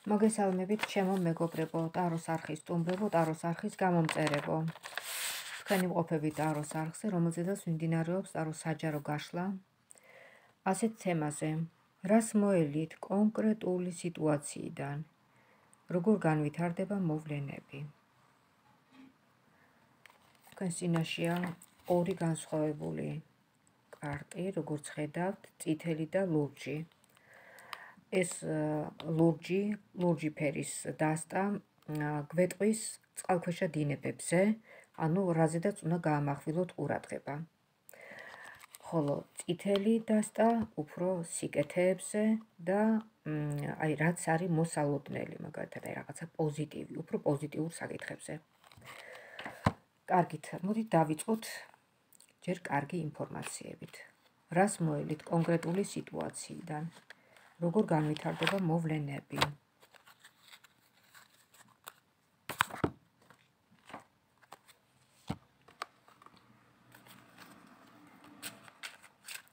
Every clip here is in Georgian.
მოგესალმებით, ჩემო მეგობრებო, ტაროს არხის სტუმრებო, ტაროს არხის გამომწერებო. თქვენი მყოფებით ტაროს არხზე, რომელზედაც მიმდინარეობს ტაროს საჯარო გაშლა. ასეთ თემაზე, რას მოელით კონკრეტული სიტუაციიდან, როგორ განვითარდება მოვლენები. თქვენ წინაშეა ორი განსხვავებული კარტი, როგორც ხედავთ, წითელი და ლურჯი. ეს ლურჯი ფერის დასტა გვეტყვის წყალქვეშა დინებებზე, ანუ რაზედაც უნდა გაამახვილოთ ყურადღება. ხოლო წითელი დასტა უფრო სიკეთეებზე და რაც არის მოსალოდნელი, მაგალითად, რაღაცა პოზიტივი, უფრო პოზიტიურ საკითხებზე. კარგით, მოდით დავიწყოთ ჯერ კარგი ინფორმაციებით. რას მოელით კონკრეტული სიტუაციიდან? როგორ განვითარდება მოვლენები.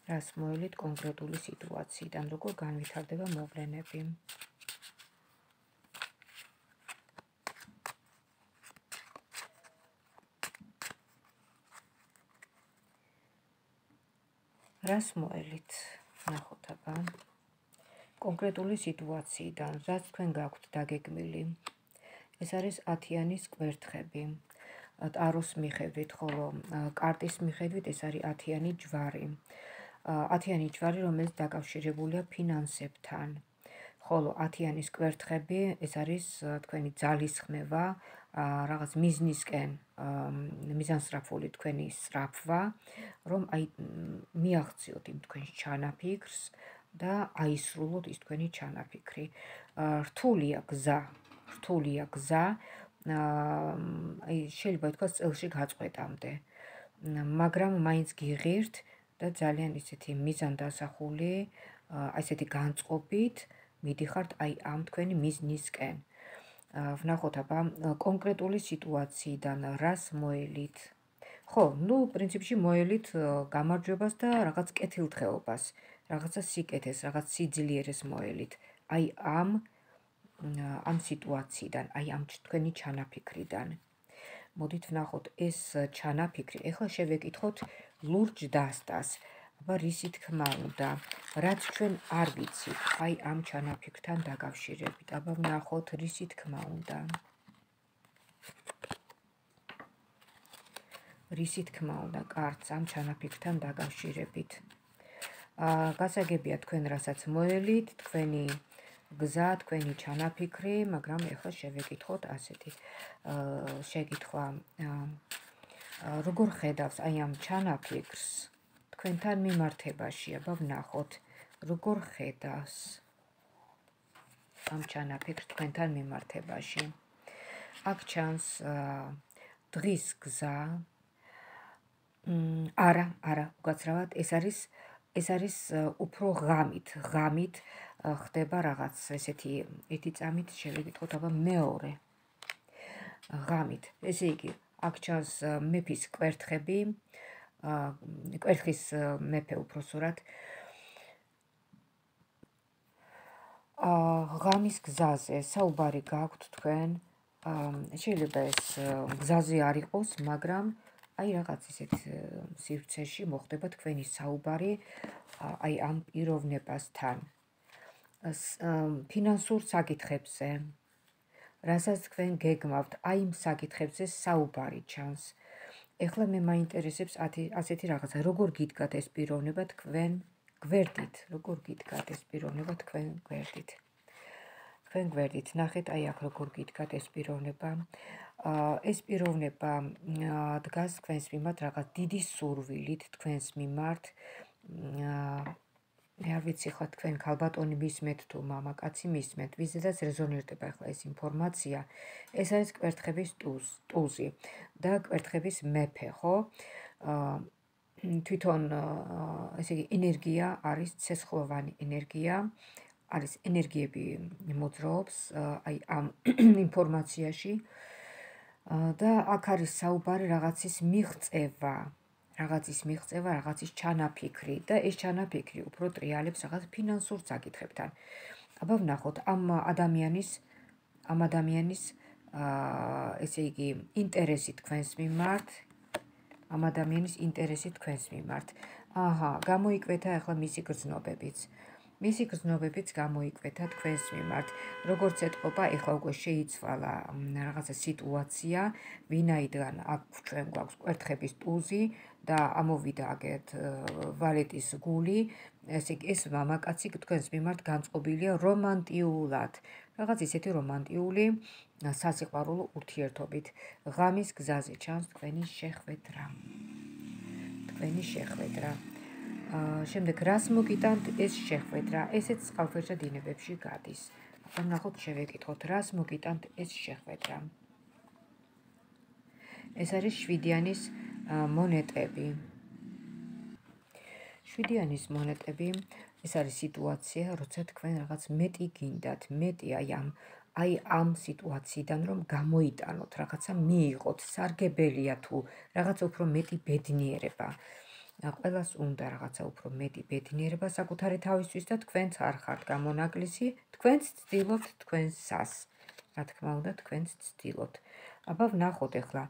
რას მოელით კონკრეტული სიტუაციიდან, როგორ განვითარდება მოვლენები. რას მოელით, ნახოთ აბა. კონკრეტული სიტუაციიდან, რაც თქვენ გაქვთ დაგეგმილი. ეს არის 10-იანის კვერთხები. ტაროს მიხედვით, ხოლო კარტის მიხედვით ეს არის 10-იანი ჯვარი. 10-იანი ჯვარი, რომელიც დაკავშირებულია ფინანსებთან. ხოლო 10-იანის კვერთხები, ეს არის თქვენი ძალისხმევა, რაღაც მიზნისკენ მიზანსწრაფული თქვენი სწრაფვა, რომ მიაღწიოთ იმ თქვენს ჩანაფიქრს და აისრულოთ ის თქვენი ჩანაფიქრი. რთულია გზა, შეიძლება ითქვას წელში გაწყვეტამდე, მაგრამ მაინც გიღირთ და ძალიან ისეთი მიზანდასახული, ესეთი განწყობით მიდიხართ ამ თქვენი მიზნისკენ. ვნახოთ აბა კონკრეტული სიტუაციიდან რას მოელით. ხო, პრინციპში მოელით გამარჯვებას და რაღაც კეთილდღეობას, რაღაცა სიკეთეს, რაღაც სიძლიერეს მოელით. ამ სიტუაციიდან, ამ თქვენი ჩანაფიქრიდან. მოდით ვნახოთ ეს ჩანაფიქრი. ეხლა შევეკითხოთ ლურჯ დასტას. აბა რისი თქმა უნდა, რაც ჩვენ არ ვიცით, ამ ჩანაფიქრთან დაკავშირებით. აბა ვნახოთ რისი თქმა უნდა. რისი თქმა უნდა კარტს ამ ჩანაფიქრთან დაკავშირებით. გასაგებია თქვენ რასაც მოელით, თქვენი გზა, თქვენი ჩანაფიქრი, მაგრამ ეხლა შევეკითხოთ ასეთი შეკითხვა. როგორ ხედავს ამ ჩანაფიქრს თქვენთან მიმართებაში? აბა ვნახოთ, როგორ ხედავს ამ ჩანაფიქრს თქვენთან მიმართებაში. აქ ჩანს დღის გზა. არა, უკაცრავად, ეს არის უფრო ღამით ხდება რაღაც ესეთი ერთი წამით შევეკითხოთ აბა მეორე ღამით. ესე იგი, აქ ჩანს მეფის კვერთხები, კვერთხის მეფე უпроსურად. ღამის გზაზე საუბარი გაქვთ თქვენ. შეიძლება ეს გზაზე არ იყოს, მაგრამ რაღაც ისეთ სივრცეში მოხდება თქვენი საუბარი ამ პიროვნებასთან. ფინანსურ საკითხებზე, რასაც თქვენ გეგმავთ, იმ საკითხებზე საუბარი ჩანს. ეხლა მე მაინტერესებს ასეთი რაღაცა, როგორ გიდგათ ეს პიროვნება თქვენ გვერდით, როგორ გიდგათ ეს პიროვნება თქვენ გვერდით. თქვენ გვერდით, ნახეთ აქ როგორ გიდგათ ეს პიროვნება. ეს პიროვნება დგას თქვენს მიმართ რაღაც დიდი სურვილით თქვენს მიმართ. მე არ ვიცი ხა თქვენ ქალბატონი მისმენთ თუ მამაკაცი მისმენთ, ვიზედაც რეზონირდება ახლა ეს ინფორმაცია. ეს არის კვერთხების ტუზი და კვერთხების მეფე, ხო? თვითონ ესე იგი ენერგია არის ცეცხლოვანი ენერგია, არის ენერგიები მოძრაობს ამ ინფორმაციაში. და აქ არის საუბარი რაღაცის მიღწევა, რაღაცის ჩანაფიქრი და ეს ჩანაფიქრი უფრო ტრიალებს რაღაც ფინანსურ საკითხებთან. აბა ვნახოთ ამ ადამიანის ესე იგი ინტერესი თქვენს მიმართ, ამ ადამიანის ინტერესი თქვენს მიმართ. გამოიკვეთა ახლა მისი გრძნობებიც. მისი გრძნობებიც გამოიკვეთა თქვენს მიმართ. როგორც ეთყობა, ახლა უკვე შეიცვალა რაღაცა სიტუაცია, ვინაიდან აქ ჩვენ გვაქვს კვერთხების ტუზი და ამოვიდა აგეთ ვალეტის გული, ეს მამაკაცი თქვენს მიმართ განწყობილია რომანტიულად. რაღაც ისეთი რომანტიული სასიყვარულო ურთიერთობით. ღამის გზაზე ჩანს თქვენი შეხვედრა. შემდეგ რას მოგიტანთ ეს შეხვედრა? ესეც წყალქვეშა დინებებში გადის. ახლა ნახოთ, შევეკითხოთ, რას მოგიტანთ ეს შეხვედრა? ეს არის 7-იანის მონეტები. 7-იანის მონეტები, ეს არის სიტუაცია, როცა თქვენ რაღაც მეტი გინდათ, მეტი აი ამ სიტუაციიდან რომ გამოიტანოთ, რაღაცა მიიღოთ, სარგებელია თუ რაღაცა უფრო მეტი ბედნიერება. ყველას უნდა რაღაცა უფრო მეტი ბედნიერება საკუთარი თავისთვის და თქვენც არ ხართ გამონაკლისი, თქვენც ცდილობთ თქვენსას. რა თქმა უნდა, თქვენც ცდილობთ. აბა ვნახოთ ახლა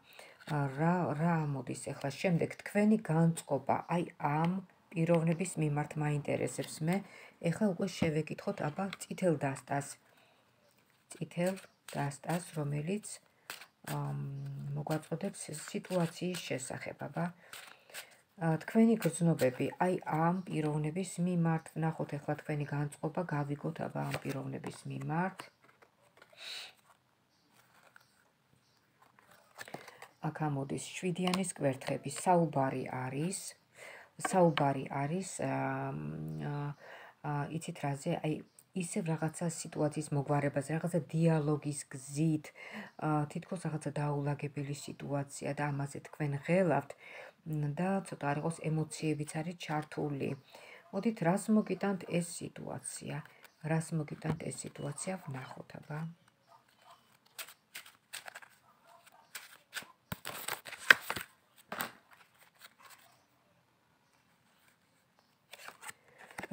რა მოდის ახლა შემდეგ თქვენი განწყობა აი ამ პიროვნების მიმართ მაინტერესებს მე. ახლა უკვე შევეკითხოთ აბა წითელ დასტას, რომელიც მოგვაწოდებს სიტუაციის შესახებ. აბა თქვენი გრძნობები აი ამ პიროვნების მიმართ. ვნახოთ ახლა თქვენი განწყობა, გავიგოთ აბა ამ პიროვნების მიმართ. აქ ამოდის 7-იანის კვერთხები. საუბარი არის იცით რაზე? აი ისევ რაღაცა სიტუაციის მოგვარებაზე, რაღაცა დიალოგის გზით, თითქოს რაღაცა დაულაგებელი სიტუაცია და ამაზე თქვენ ღელავთ და ცოტა არ იყოს ემოციებიც არის ჩართული. მოდით, რას მოგიტანთ ეს სიტუაცია? ვნახოთ აბა.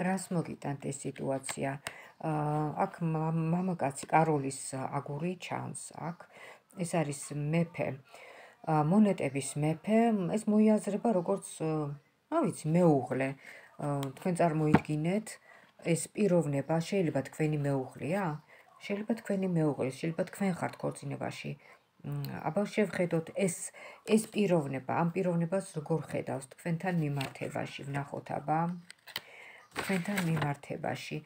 რას მოგიტანთ ეს სიტუაცია? აქ მამაკაცი კაროლის აგური ჩანს აქ. ეს არის მეფე. მონეტების მეფე, ეს მოიაზრება როგორც, მეუღლე. თქვენ წარმოიდგინეთ, ეს პიროვნება შეიძლება თქვენი მეუღლეა? შეიძლება თქვენი მეუღლე, შეიძლება თქვენ ხართ ქორწინებაში. აბა შევხედოთ ეს პიროვნება, ამ პიროვნებას როგორ ხედავს თქვენთან მიმართებაში. ვნახოთ აბა. თქვენთან მიმართებაში.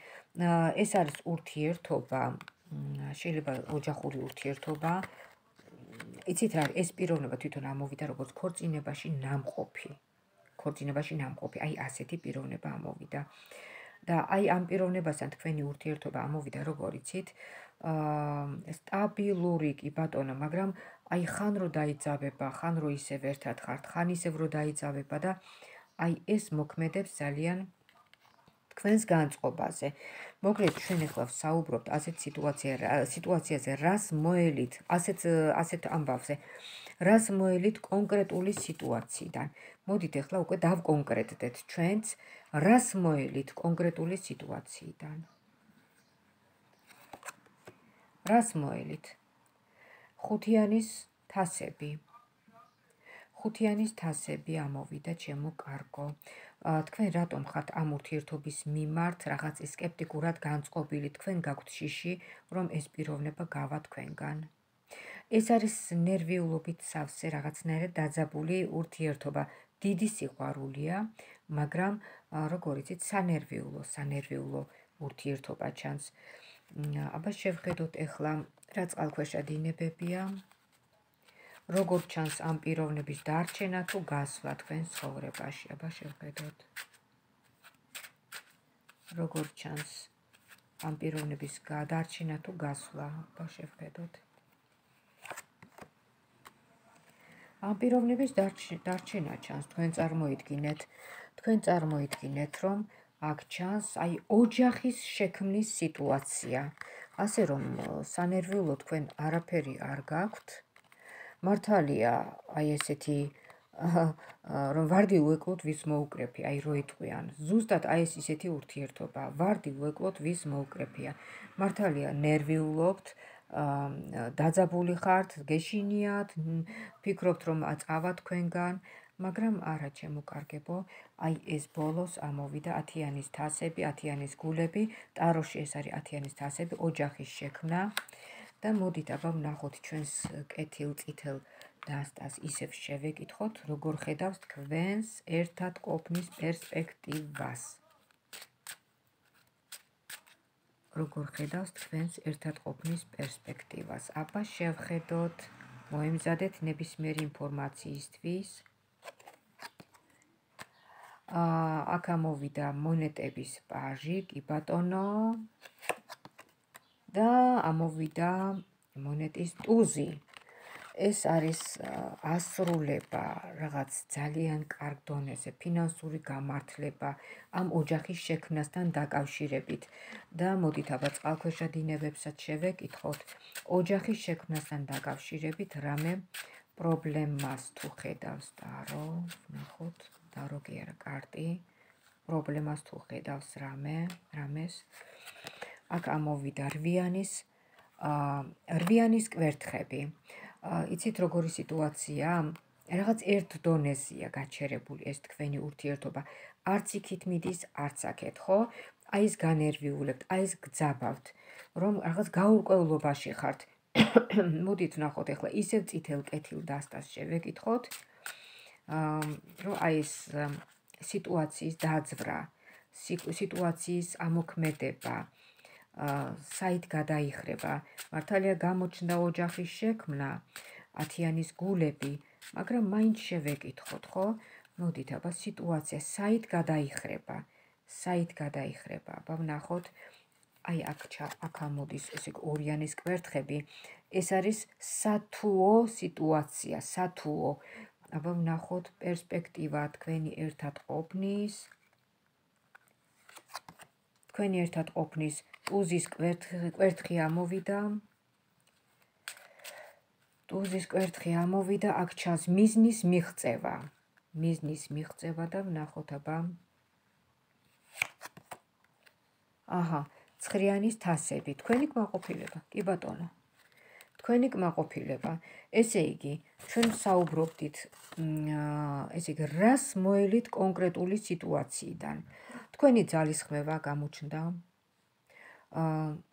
ეს არის ურთიერთობა, შეიძლება ოჯახური ურთიერთობა. იცით რა, ეს პიროვნება თვითონ ამოვიდა როგორც ქორწინებაში ნამყოფი. აი ასეთი პიროვნება ამოვიდა. და აი ამ პიროვნებასთან თქვენი ურთიერთობა ამოვიდა როგორ იცით? სტაბილური კი ბატონო, მაგრამ აი ხან რო დაიძაბება, ხან რო ისევ ერთად ხართ, ხან ისევ რო დაიძაბება და აი ეს მოქმედებს ძალიან თქვენს განწყობაზე. მოგლეთ, ჩვენ ახლა ვსაუბრობთ ასეთ სიტუაციაზე, რას მოელით, ასეთ ამბავზე, რას მოელით კონკრეტული სიტუაციიდან. მოდით ახლა უკვე დავკონკრეტდეთ ჩვენც, რას მოელით კონკრეტული სიტუაციიდან. რას მოელით? 5-იანის თასები ამოვიდა, ჩემო კარგო. თქვენ რატომ ხართ ამ ურთიერთობის მიმართ რაღაც სკეპტიკურად განწყობილი? თქვენ გაქვთ შიში, რომ ეს პიროვნება გავა თქვენგან. ეს არის ნერვიულობით სავსე რაღაცნაირად დაძაბული ურთიერთობა. დიდი სიყვარულია, მაგრამ როგორ იცით, სანერვიულო ურთიერთობა ჩანს. აბა შევხედოთ ახლა რა წყალქვეშა დინებებია. როგორ ჩანს ამ პიროვნების დარჩენა თუ გასვლა თქვენ ცხოვრებაში? აბა შევხედოთ. როგორ ჩანს ამ პიროვნების დარჩენა თუ გასვლა? აბა შევხედოთ. ამ პიროვნების დარჩენა ჩანს. თქვენ წარმოიდგინეთ, რომ აქ ჩანს აი ოჯახის შექმნის სიტუაცია. ასე რომ სანერვიულო თქვენ არაფერი არ გაქვთ. მართალია, აი ესეთი რომ ვარდი უეკლოთ ვის მოუკრეფია, აი რო იტყვიან. ზუსტად აი ეს ისეთი ურთიერთობა, ვარდი უეკლოთ ვის მოუკრეფია. მართალია ნერვიულობთ, დაძაბული ხართ, გეშინიათ, ფიქრობთ რომ აწავა თქვენგან, მაგრამ არა ჩემო კარგებო, აი ეს ბოლოს ამოვიდა 10-იანის თასები, 10-იანის გულები, ტაროში ეს არის 10-იანის თასები, ოჯახის შექმნა და მოდით აბა ვნახოთ ჩვენს კეთილ წითელ დასტას ისევ შევეკითხოთ, როგორ ხედავს თქვენს ერთად ყოფნის პერსპექტივას. როგორ ხედავს თქვენს ერთად ყოფნის პერსპექტივას. აბა შევხედოთ, მოემზადეთ ნებისმიერი ინფორმაციისთვის. აქ ამოვიდა მონეტების პაჟი, კი ბატონო. და ამოვიდა მონეტის ტუზი. ეს არის ასრულება, რაღაც ძალიან კარგ დონეზე, ფინანსური გამართლება ამ ოჯახის შექმნასთან დაკავშირებით. და მოდით აბა წყალქვეშა დინებებსაც შევეკითხოთ, ოჯახის შექმნასთან დაკავშირებით რამე პრობლემას თუ ხედავს დარო, ვნახოთ, დარო კი არა კარტი, პრობლემას თუ ხედავს რამეს. აქ ამოვიდა რვიანის კვერთხები. იცით როგორი სიტუაცია? რაღაც ერთ დონეზეა გაჩერებული ეს თქვენი ურთიერთობა. არც იქით მიდის, არც აქეთ, ხო? აი ეს განერვიულებთ, აი ეს გძაბავთ, რომ რაღაც გაურკვევლობაში ხართ. მოდით ვნახოთ ახლა ისევ წითელ კეთილ დასტას შევეკითხოთ, რომ აი ეს სიტუაციის დაძვრა, სიტუაციის ამოქმედება, საით გადაიხრება, მართალია გამოჩნდა ოჯახის შექმნა, 10-იანის გულები, მაგრამ მაინც შევეკითხოთ, ხო? მოდით აბა სიტუაცია საით გადაიხრება, აბა ვნახოთ, აი აქ ამოდის ესე ორიანის კვერთხები, ეს არის სათუო სიტუაცია, სათუო. აბა ვნახოთ პერსპექტივა თქვენი ერთად ყოფნის, ტუზის კვერთხი ამოვიდა. აქ ჩანს მიზნის მიღწევა და ვნახოთ აბა. ცხრიანის თასები, თქვენი კმაყოფილება, კი ბატონო. თქვენი კმაყოფილება, ესე იგი, ჩვენ საუბრობდით, ესე იგი, რას მოელით კონკრეტული სიტუაციიდან. თქვენი ძალისხმევა გამოჩნდა.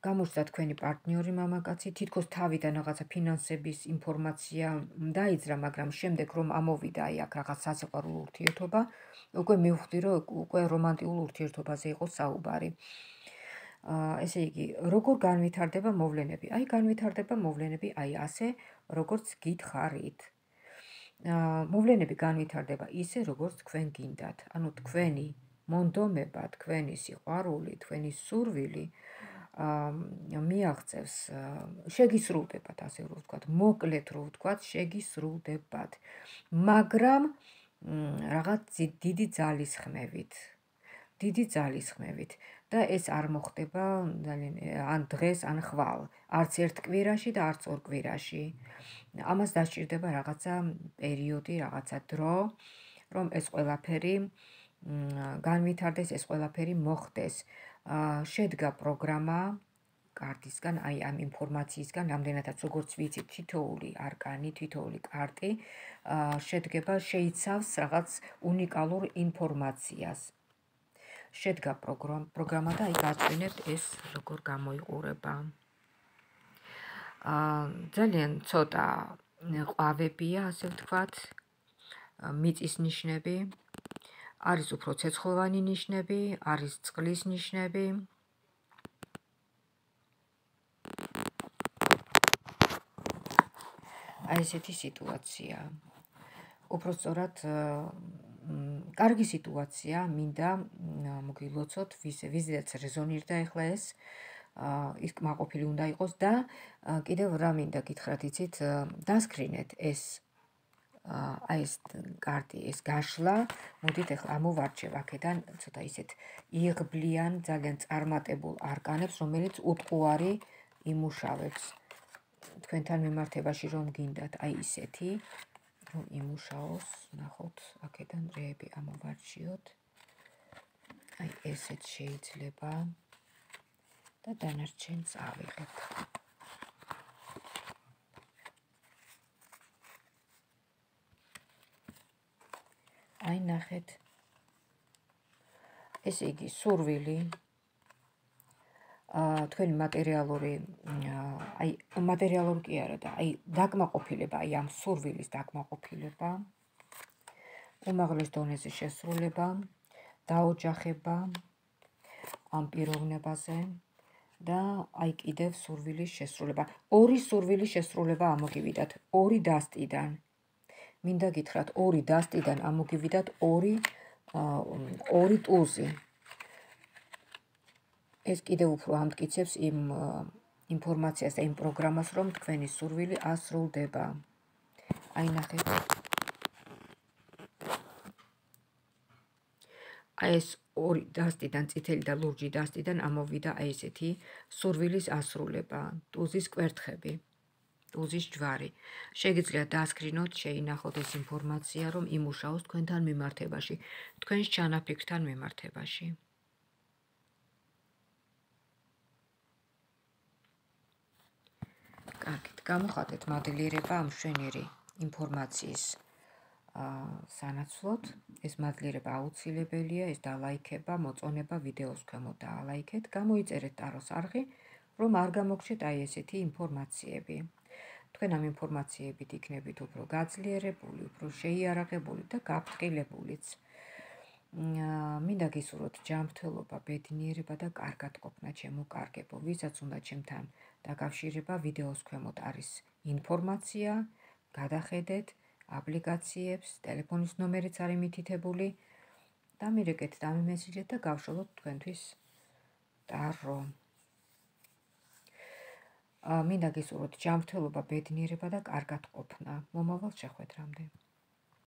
გამოჩნდა თქვენი პარტნიორი მამაკაცი, თითქოს თავიდან რაღაცა ფინანსების ინფორმაცია დაიძრა, მაგრამ შემდეგ რომ ამოვიდა აი აქ რაღაც სასიყვარულო ურთიერთობა, უკვე მივხვდი, რომ უკვე რომანტიკულ ურთიერთობაზე იყო საუბარი. ესე იგი, როგორ განვითარდება მოვლენები? აი განვითარდება მოვლენები აი ასე, როგორც გითხარით. მოვლენები განვითარდება ისე, როგორც თქვენ გინდათ. ანუ თქვენი მონდომება, თქვენი სიყვარული, თქვენი სურვილი მიაღწევს, შეგისრულდებათ, ასე რომ ვთქვათ, მოკლედ რომ ვთქვათ, შეგისრულდებათ, მაგრამ რაღაც დიდი ძალისხმევით და ეს არ მოხდება ან დღეს, ან ხვალ, არც ერთ კვირაში და არც ორ კვირაში. ამას დასჭირდება რაღაცა პერიოდი, რაღაცა დრო, რომ ეს ყველაფერი განვითარდეს, ეს ყველაფერი მოხდეს. შედგა პროგრამა კარტისგან, აი ამ ინფორმაციისგან, რამდენადაც როგორც ვიცით, თითოეული არკანი, თითოეული კარტი შედგება, შეიცავს რაღაც უნიკალურ ინფორმაციას. შედგა პროგრამა და აი გაწვინებთ ეს როგორ გამოიყურება. ძალიან ცოტა ყვავებია, ასე ვთქვათ, მიწის ნიშნები, არის უფრო ცეცხლოვანი ნიშნები, არის წყლის ნიშნები. აი ესეთი სიტუაცია. უпростоრად კარგი სიტუაცია, მინდა მოგილოცოთ, ვიზედაც რეზონირდა ახლა ეს, ის კმაყოფილი უნდა იყოს და კიდევ რა მინდა გითხრათ, იცით, დასკრინეთ ეს აი ეს კარტი, ეს გაშლა, მოდით ახლა ამოვარჩევ აქედან ცოტა ისეთ იღბლიან, ძალიან წარმატებულ არკანებს, რომელიც უტყუარი იმუშავებს თქვენთან მიმართებაში რომ გინდათ, აი ისეთი, რომ იმუშაოს, ნახოთ, აქედან რეები ამოვარჩიოთ. აი ესეც შეიძლება და დანარჩენს ავიღეთ. აი ნახეთ. ესე იგი სურვილი თქვენი მატერიალური აი მატერიალური კი არა და აი დაკმაყოფილება, აი ამ სურვილის დაკმაყოფილება, უმაღლეს დონეზე შესრულება, დაოჯახება ამ პიროვნებაზე და აი კიდევ სურვილის შესრულება. ორი სურვილის შესრულება ამოგივიდათ, ორი დასტიდან. მინდა გითხრათ, ორი დასტიდან ამოგივიდათ ორი ტულზი. ეს კიდევ უფრო ამტკიცებს იმ ინფორმაციას და იმ პროგრამას, რომ თქვენი სურვილი ასრულდება. აი ნახეთ. აი ეს ორი დასტიდან, წითელი და ლურჯი დასტიდან ამოვიდა აი ესეთი სურვილის ასრულება, ტულზის კვერთხები, ტულზის ჯვარი. შეგიძლიათ დაასკრინოთ, შეინახოთ ეს ინფორმაცია, რომ იმუშაოს თქვენთან მიმართებაში, თქვენს ჩანაფიქრთან მიმართებაში. კარგით, გამოხატეთ მადლიერება ამ მშვენიერი ინფორმაციის სანაცვლოდ. ეს მადლიერება აუცილებელია, ეს დალაიქება, მოწონება ვიდეოს ქვემოთ დაალაიქეთ, გამოიწერეთ ტაროს არხი, რომ არ გამოგჩეთ აი ესეთი ინფორმაციები. თქვენ ამ ინფორმაციებით იქნებით უფრო გაძლიერებული, უფრო შეიარაღებული და გაფრთხილებულიც. მინდა გისურვოთ ჯანმრთელობა, ბედნიერება და კარგად ყოფნა ჩემო კარგებო. ვისაც უნდა ჩემთან დაკავშირება, ვიდეოს ქვემოთ არის ინფორმაცია, გადახედეთ აპლიკაციებს, ტელეფონის ნომერიც არის მითითებული. დამირეკეთ, დამიმესიჯეთ და გავშალოთ თქვენთვის ტარო. მინდა გისურვოთ ჯანმრთელობა, ბედნიერება და კარგად ყოფნა. მომავალ შეხვედრამდე.